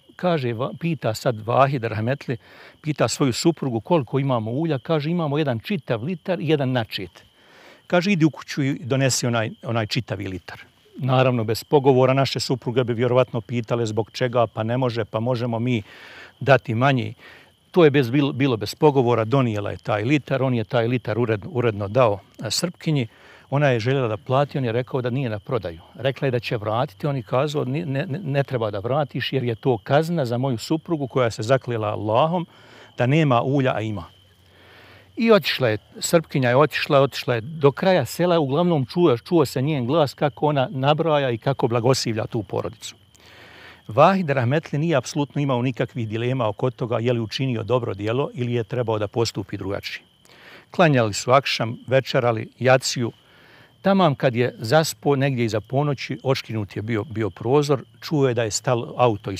pita sad Vahid rahmetli, pita svoju suprugu koliko imamo ulja, kaže imamo jedan čitav litar i jedan načet. Kaže idi u kuću i donesi onaj čitavi litar. Naravno, bez pogovora naše supruge bi vjerovatno pitale zbog čega, pa ne može, pa možemo mi dati manji. To je bilo bez pogovora, donijela je taj litar, on je taj litar uredno dao Srpkinji. Ona je željela da plati, on je rekao da nije na prodaju. Rekla je da će vratiti, on je kazao ne treba da vratiš jer je to kazna za moju suprugu koja se zaklijela Allahom da nema ulja, a ima. I otišla je, Srpkinja je otišla je do kraja sela, uglavnom čuo se njen glas kako ona nabraja i kako blagosivlja tu porodicu. Vahid rahmetli nije apsolutno imao nikakvih dilema oko toga je li učinio dobro djelo ili je trebao da postupi drugačije. Klanjali su akšam, večerali, jaciju, Tamam kad je zaspo negdje iza ponoći, oškinut je bio prozor, čuo je da je stalo auto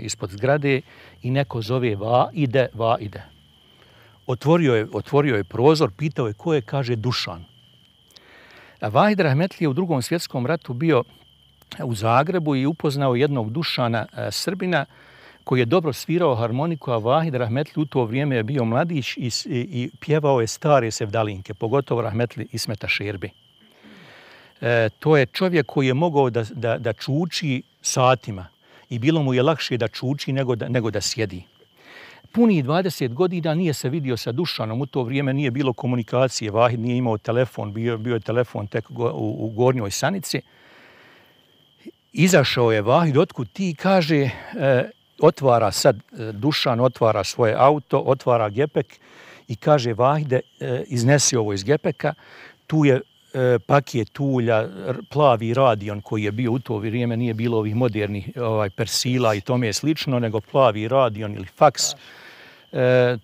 ispod zgrade i neko zove va ide. Otvorio je prozor, pitao je ko je, kaže Dušan. Vahid Rahmetli je u Drugom svjetskom ratu bio u Zagrebu i upoznao jednog Dušana Srbina koji je dobro svirao harmoniku, a Vahid Rahmetli u to vrijeme je bio mladić i pjevao je stare sevdalinke, pogotovo Rahmetli Ismeta Šerbi. To je čovjek koji je mogao da čuči satima i bilo mu je lakše da čuči nego da sjedi. Punih 20 godina nije se vidio sa Dušanom, u to vrijeme nije bilo komunikacije, Vahid nije imao telefon, bio je telefon tek u Gornjoj Sanici. Izašao je Vahid, otkud ti, kaže, otvara sad Dušan, otvara svoje auto, otvara gepek i kaže Vahide, iznesi ovo iz gepeka, tu je paket ulja, plavi radion koji je bio u to vrijeme, nije bilo ovih modernih persila i tome je slično, nego plavi radion ili faks.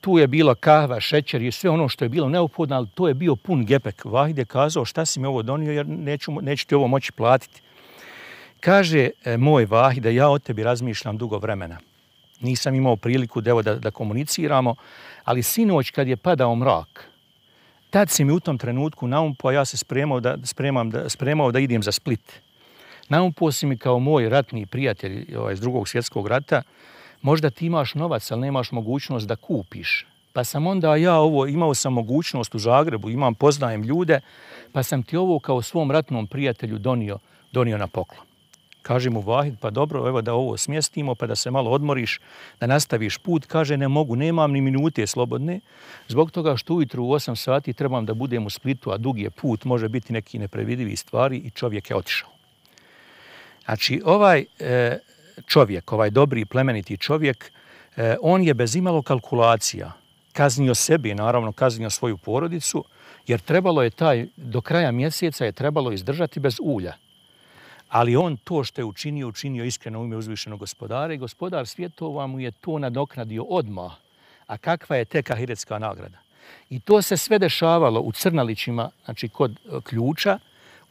Tu je bila kahva, šećer i sve ono što je bilo neophodno, ali to je bio pun gepek. Vahid je kazao šta si mi ovo donio jer neću ti ovo moći platiti. Kaže moj Vahide, ja o tebi razmišljam dugo vremena. Nisam imao priliku da komuniciramo, ali sinoć kad je padao mrak, tad si mi u tom trenutku naumpao, ja se spremao da idem za Split. Naumpao si mi kao moj ratni prijatelj iz Drugog svjetskog rata, možda ti imaš novac, ali nemaš mogućnost da kupiš. Pa sam onda imao sam mogućnost u Zagrebu, poznajem ljude, pa sam ti ovo kao svom ratnom prijatelju donio na poklon. Kaže mu Vahid, pa dobro, evo da ovo smjestimo, pa da se malo odmoriš, da nastaviš put. Kaže, ne mogu, nemam ni minute slobodne, zbog toga što ujutru u 8 sati trebam da budem u Splitu, a dugi je put, može biti neki neprevidivi stvari i čovjek je otišao. Znači, ovaj čovjek, ovaj dobri plemeniti čovjek, on je bez imalo kalkulacija kaznio sebe, naravno kaznio svoju porodicu, jer trebalo je do kraja mjeseca je trebalo izdržati bez ulja. Ali on to što je učinio iskreno u ime uzvišenog gospodara i gospodar svjetova mu je to nadoknadio odmah. A kakva je tek ahiretska nagrada? I to se sve dešavalo u Crnalićima, znači kod ključa,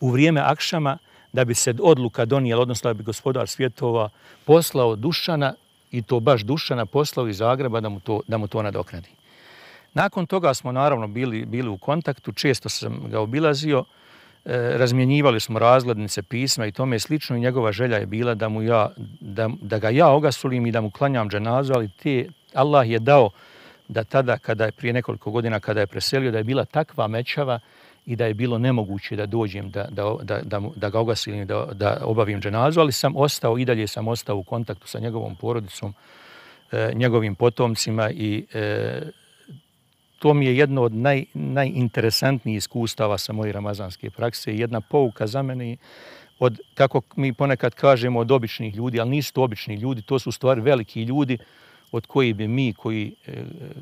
u vrijeme akšama, da bi se odluka donijela, odnosno da bi gospodar svjetova poslao Dušana, i to baš Dušana poslao iz Zagreba da mu to nadoknadi. Nakon toga smo naravno bili u kontaktu, često sam ga obilazio, razmjenjivali smo razglednice, pisma i tome slično i njegova želja je bila da ga ja ogasulim i da mu klanjam dženazu, ali Allah je dao da tada, prije nekoliko godina kada je preselio, da je bila takva mećava i da je bilo nemoguće da dođem da ga ogasulim, da obavim dženazu, ali i dalje sam ostao u kontaktu sa njegovom porodicom, njegovim potomcima i to mi je jedno od najinteresantnijih iskustava sa moje ramazanske prakse. Jedna pouka za mene od, kako mi ponekad kažemo, od običnih ljudi, ali nisu to obični ljudi, to su u stvari veliki ljudi od koji bi mi,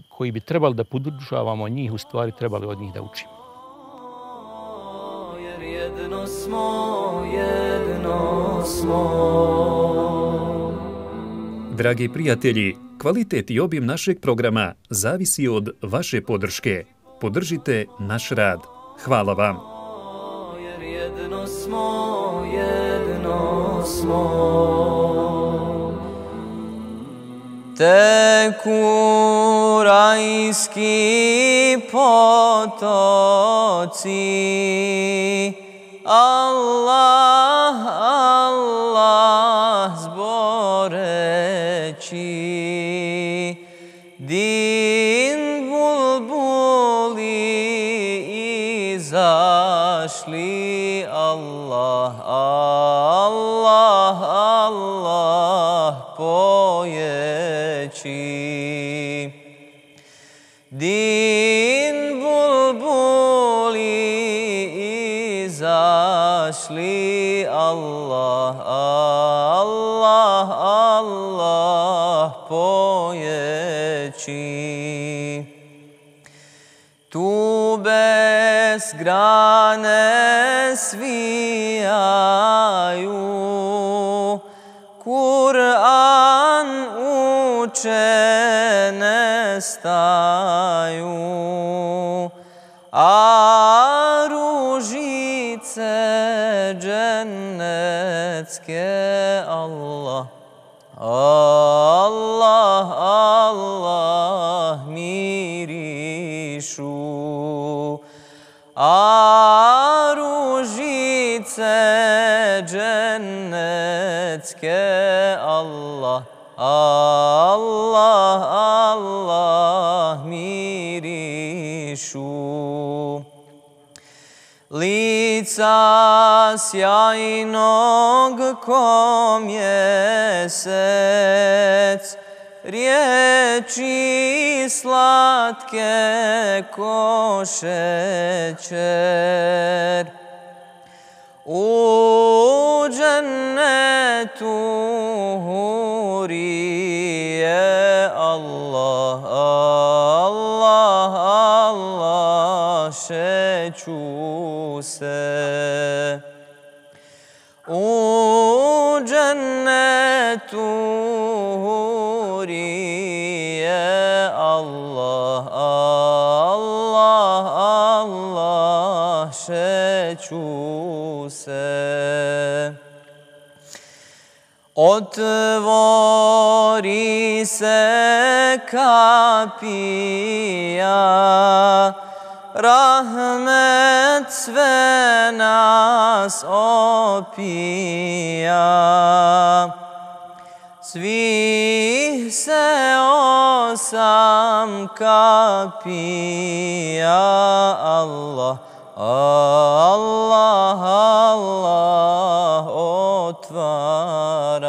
koji bi trebali da podržavamo njih, u stvari trebali od njih da učimo. Jer jedno smo. Dragi prijatelji, kvalitet i obim našeg programa zavisi od vaše podrške. Podržite naš rad. Hvala vam. Jer jedno smo. Teku rajski potoci, Allah, Allah zboreći, din bulbuli izašli, Allah, Allah, Allah pojeći. Din bulbuli izašli, Allah, Allah, Allah pojeći. Tu bez grane svijaju, Kur'an uče ne staju, a ružice Allah, Allah, Allah mirišu, a ružice džennetske Allah, Allah, Allah mirišu. Lica sjajnog ko mjesec, riječi slatke ko šećer. U džennetu hurije Allah, Allah, Allah šeću se. U džennetu hurije Allah, Allah, Allah šeću se. Otvori se kapija, rahmet sve nas opija. Svih se 8 kapija, Allah, Allah, Allah otvara.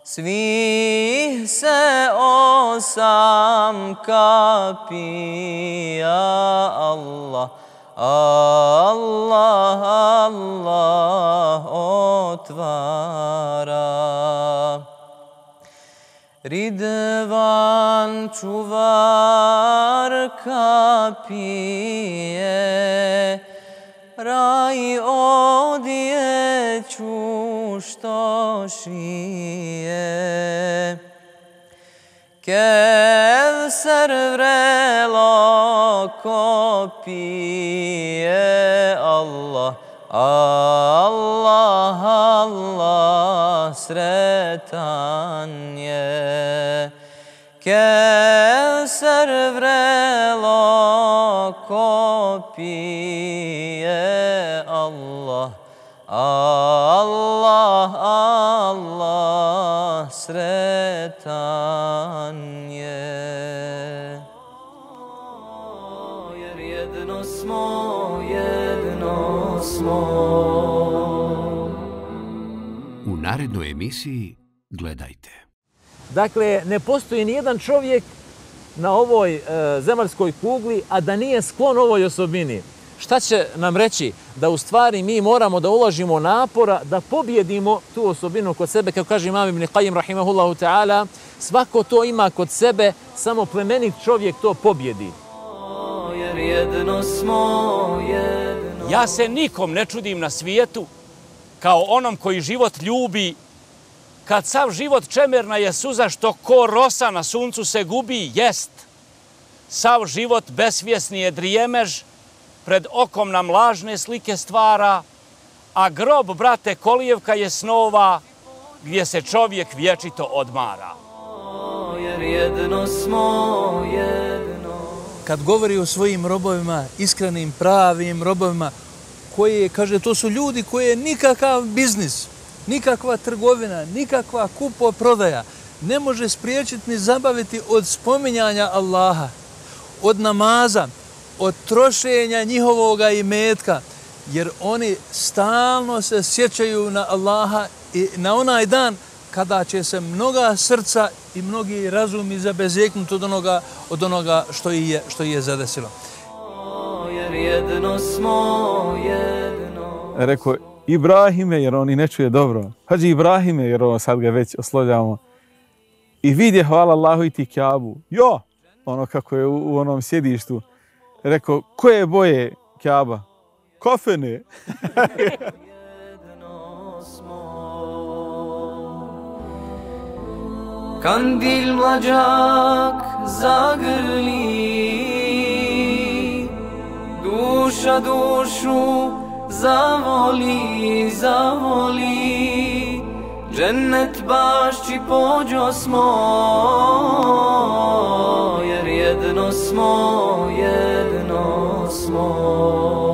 Svih se 8 kapija, Allah, Allah, Allah otvara. Ridvan čuvar kapije, raj odjeću što šije. Kevser vrelo ko pije, Allah, Allah, Allah sretan je. Kevser vrelo ko pije, Allah, Allah, Allah sretan je. Jer jedno smo. U narednoj emisiji gledajte. Dakle, ne postoji nijedan čovjek na ovoj zemaljskoj kugli, a da nije sklon ovoj osobini. Šta će nam reći? Da u stvari mi moramo da uložimo napora da pobjedimo tu osobinu kod sebe. Kako kaže Imam Ibn Qayyim rahimahullahu ta'ala, svako to ima kod sebe, samo plemenit čovjek to pobjedi. Jer jedno smo. Ja se nikom ne čudim na svijetu kao onom koji život ljubi, kad sav život čemerna je suza što ko rosa na suncu se gubi, jest. Sav život besvjesni je drijemež, pred okom nam lažne slike stvara, a grob, brate, kolijevka je snova, gdje se čovjek vječito odmara. Jer jedno smo. Kad govori o svojim robovima, iskrenim, pravim robovima, koji, kaže, to su ljudi koji je nikakav biznis, nikakva trgovina, nikakva kupo-prodaja ne može spriječiti ni zabaviti od spominjanja Allaha, od namaza, od trošenja njihovoga imetka, jer oni stalno se sjećaju na Allaha i na onaj dan kada će se mnoga srca i mnogi razumi zabezeknuti od onoga što je zadesilo. Jer jedno smo. Rekao, Ibrahime, jer on i ne čuje dobro. Hadži Ibrahime, jer sad ga već oslovljamo. I vidje, hvala Allahu, i ti Kjabu. Jo! Ono kako je u onom sjedištu. Rekao, koje boje Kjaba? Kofene. Kandil mlađak zagrli, duša dušu zavoli, zavoli, džennet bašći pođo smo, jer jedno smo, jedno smo.